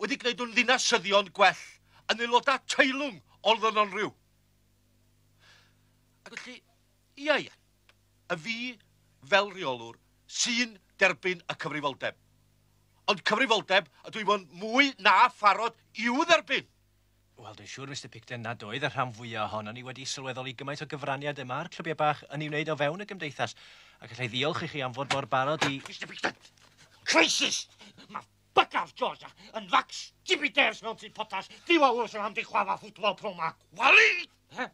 wedi gwneud nhw'n ddinasyddion gwell, yn aelodau teilwng o ddynonrhyw. Ac felly, ia ia, y fi fel rheolwr sy'n derbyn y cyfrifoldeb. Ond cyfrifoldeb ydw i fod mwy na pharod i'w dderbyn. Wel, dwi'n siŵr, Mister Picton, nad oedd y rhan fwyaf ohonon ni wedi sylweddoli gymaint o gyfraniad y mae'r clybiau bach yn ei wneud o fewn y gymdeithas. Ac allai ddiolch i chi am fod mor barod i... Mr Picton, crisis! Mae bygaf Georgia yn fax Jibiders mewn tŷ potas. Diwa wrs yn am di chwafa ffwtbol pro ma. Wali! He?